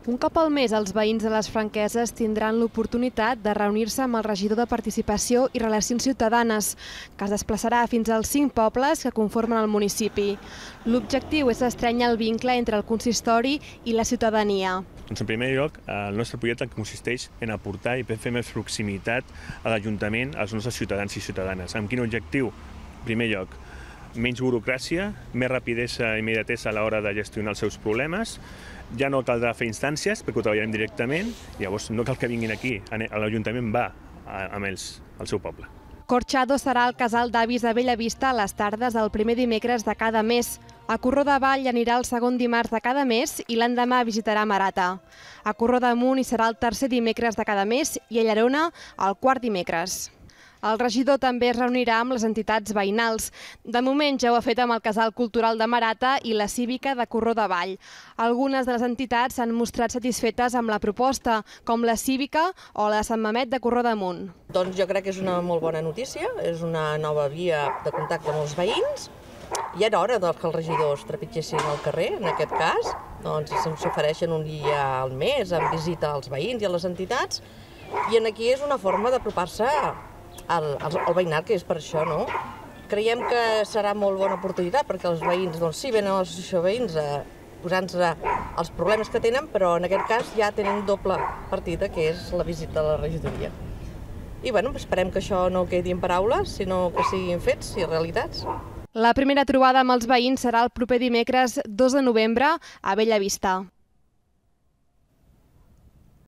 Un cop al mes, els veïns de les Franqueses tindran l'oportunitat de reunir-se amb el regidor de Participació i Relacions Ciutadanes, que es desplaçarà fins als 5 pobles que conformen el municipi. L'objectiu és estrènyer el vincle entre el consistori i la ciutadania. En primer lloc, el nostre projecte consisteix en aportar i fer més proximitat a l'Ajuntament als nostres ciutadans i ciutadanes. Amb quin objectiu? En primer lloc, menys burocràcia, més rapidesa i immediatesa a l'hora de gestionar els seus problemes. Ja no caldrà fer instàncies perquè ho treballarem directament, llavors no cal que vinguin aquí, l'Ajuntament va amb ells al seu poble. Corchado serà el casal d'avis de Bellavista a les tardes del primer dimecres de cada mes. A Corró de Vall anirà el segon dimarts de cada mes i l'endemà visitarà Marata. A Corró d'Amunt hi serà el tercer dimecres de cada mes i a Llerona el quart dimecres. El regidor també es reunirà amb les entitats veïnals. De moment ja ho ha fet amb el Casal Cultural de Marata i la Cívica de Corró de Vall. Algunes de les entitats s'han mostrat satisfetes amb la proposta, com la Cívica o la de Sant Mamet de Corró d'Amunt. Doncs jo crec que és una molt bona notícia, és una nova via de contacte amb els veïns. Ja era hora que els regidors trepitgessin al carrer, en aquest cas. Doncs s'ofereixen un dia al mes en visita als veïns i a les entitats. I aquí és una forma d'apropar-se al veïnat, que és per això, no? Creiem que serà molt bona oportunitat perquè els veïns, doncs sí, venen a l'associació de veïns posant-se els problemes que tenen, però en aquest cas ja tenen doble partida, que és la visita a la regidoria. I bueno, esperem que això no quedi en paraules, sinó que siguin fets i realitats. La primera trobada amb els veïns serà el proper dimecres 2 de novembre a Bellavista.